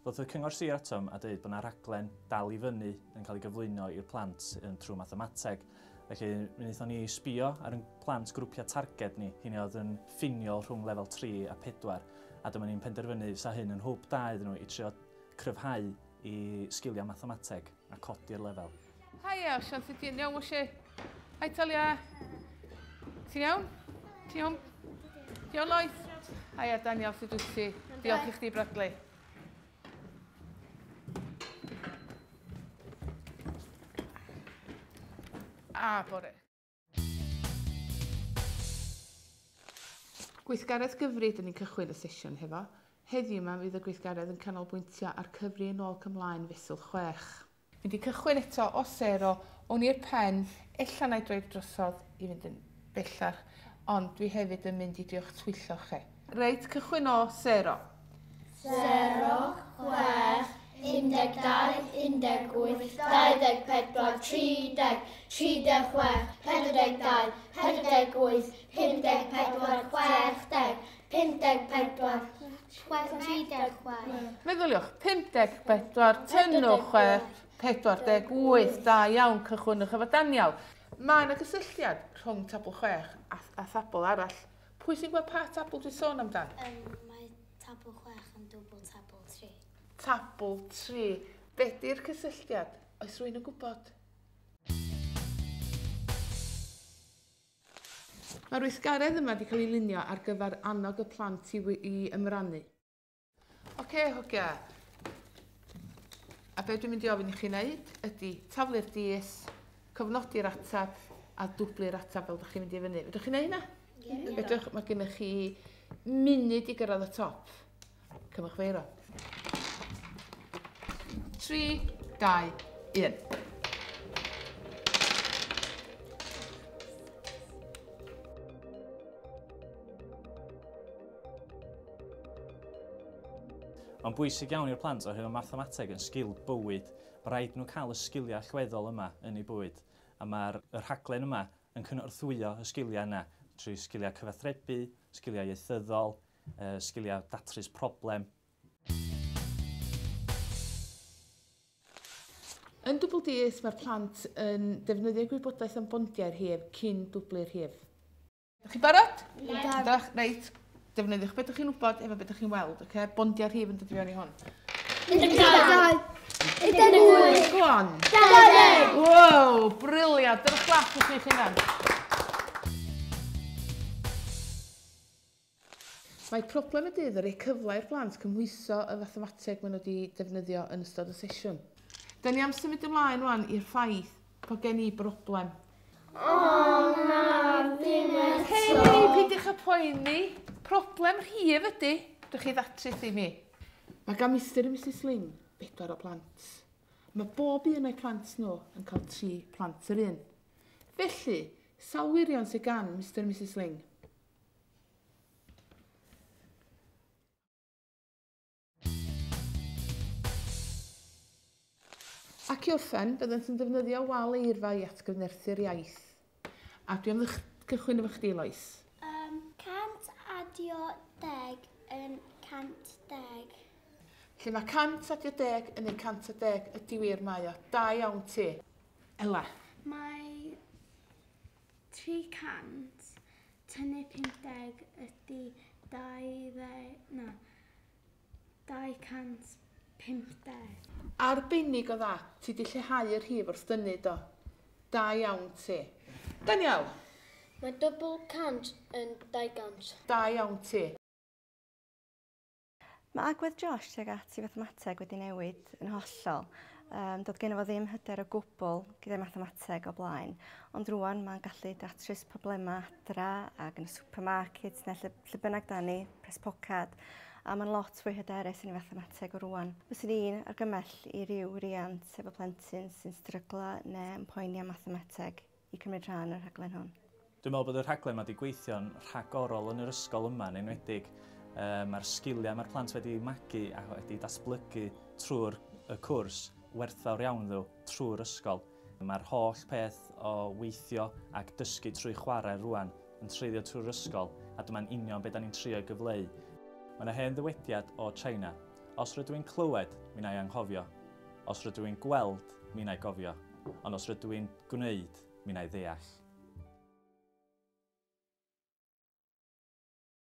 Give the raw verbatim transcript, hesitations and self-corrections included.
Ddoth y Cyngor Sir atom a dweud bod yna rhaglen dal i fyny yn cael ei gyflwyno i'r plant yn trwy mathemateg. Felly, mi wnaethon ni sbio ar ein plant grwpiau targed ni, hynny oedd yn ffiniol rhwng lefel tri a pedwar, a dyma ni'n penderfynu sa hyn yn hwb da iddyn nhw i trio cryfhau i sgiliau mathemateg a codi'r lefel. Haia, Osian, sut ti'n iawn, Osi? Hai, Talia. Ti'n iawn? Ti'n iawn? Ti'n iawn, Lois? Haia, Daniel, sut wyt ti? Diolch i chdi, Bradley. A bore. Gweithgaredd gyfri, dyn ni'n cychwyn y sesiwn hefo. Heddiw yma fydd y gweithgaredd yn canolbwyntio ar cyfri yn ôl cymlaen fesul chwech. Mynd i cychwyn eto o sero, o'n i'r pen, ella na i droi drosodd i fynd yn bellach, ond dwi hefyd yn mynd i drio'ch twyllo chi. Reit, cychwyn o sero. Sero, chwech, undeg dau, undeg wyth, dau ddeg pedwar, tri deg, tri deg chwech, pedwar deg dau, pedwar deg wyth, pum deg pedwar, chwech deg, pum deg pedwar, tri deg chwech. Meddyliwch, pum deg pedwar, tynnwch chwech, pedwar deg wyth, da iawn, cychwynnwch efo Daniel. Mae yna gysylltiad rhwng tabl chwech a, a thabl arall. Pwy sy'n gweld pa tabl dwi'n sôn amdan? Um, mae tabl chwech yn dwbl tabl tri. Tabl tri. Be di'r cysylltiad? Oes rhywun yn gwybod? Mae'r weithgaredd yma wedi cael ei lunio ar gyfer annog y plant i, i ymrannu. Oce, okay, hogia. A be dwi'n mynd i ofyn i chi wneud ydy taflu'r dis, cofnodi'r atab a dwblu'r atab fel ydych chi'n mynd i fyny. Fedrwch chi'n neud hynna? Ie. Fedrwch, mae gennych chi munud i gyrraedd y top. Cymwch feiro. Tri, dau, un. Mae'n bwysig iawn i'r plant oherwydd mae mathemateg yn sgil bywyd. Mae rhaid nhw cael y sgiliau allweddol yma yn eu bywyd. A mae'r rhaglen yma yn cynorthwyo y sgiliau yna trwy sgiliau cyfathrebu, sgiliau ieithyddol, sgiliau datrys problem. Yn dwbl dis, mae'r plant yn defnyddio gwybodaeth am bondiau'r rhif cyn dwblu'r rhif. Ydych chi'n barod? Ie. Ydych, reit. Defnyddiwch beth ydych chi'n wybod efo beth ydych chi'n weld, oce? Bondiau'r rhif yn dod i fewn i hwn. Un dau. Un wyth. Go on. Dau ddeg. Wow, briliant. Dyna clap i chi'ch hunan. Mae problem y dydd yn rhoi cyfle i'r plant cymhwyso y fathemateg maen nhw wedi defnyddio yn ystod y sesiwn. Da ni am symud ymlaen rwan i'r ffaith bod gen i broblem. O na, ddim eto. Hei, peidiwch â poeni. Problem rhif ydy. Dwch chi ddatrys i mi. Mae gan Mister a Missus Ling bedwar o plant. Mae bob un o'i plant nhw yn cael tri plant yr un. Felly, sawl wirion sydd gan Mister a Missus Ling? Ac i orffen, byddant yn defnyddio wal eirfa i atgyfnerthu'r iaith. A dwi am gychwyn efo chdi, Lois. Um, cant adio deg yn cant deg. Lle mae cant adio deg yn ei cant a deg ydy wir mae o. Da iawn ti. Ela. Mae tri cant tynnu pump deg ydy dau ddeg, na, dau cant pump deg. Arbennig o dda, ti di lleihau'r rhif wrth dynnu do. Da iawn ti. Daniel. Mae dwbl cant yn dau gant. Da iawn ti. Mae agwedd Josh tuag at i fathemateg wedi newid yn hollol. Um, doedd gen fo ddim hyder o gwbl gyda'i mathemateg o blaen, ond rwan mae'n gallu datrys problemau adra ac yn y supermarket neu lle, lle bynnag da ni, pres pocad, a mae'n lot fwy hyderus yn ei fathemateg o rwan. Fyswn i'n argymell i ryw riant efo plentyn sy'n stryglo neu yn poeni am mathemateg i cymryd rhan o'r rhaglen hwn. Dwi'n meddwl bod y rhaglen yma wedi gweithio'n rhagorol yn yr ysgol yma, yn enwedig. Mae'r sgiliau mae'r plant wedi magu a wedi datblygu trwy'r y cwrs werthfawr iawn ddo trwy'r ysgol. Mae'r holl peth o weithio ac dysgu trwy chwarae rwan yn treiddio trwy'r ysgol, a dyma'n union beth da ni'n trio gyfleu. Mae yna hen ddywediad o China, Os rydw i'n clywed, mi wna i anghofio. Os rydw i'n gweld, mi wna i gofio. Ond os rydw i'n gwneud, mi wna i ddeall.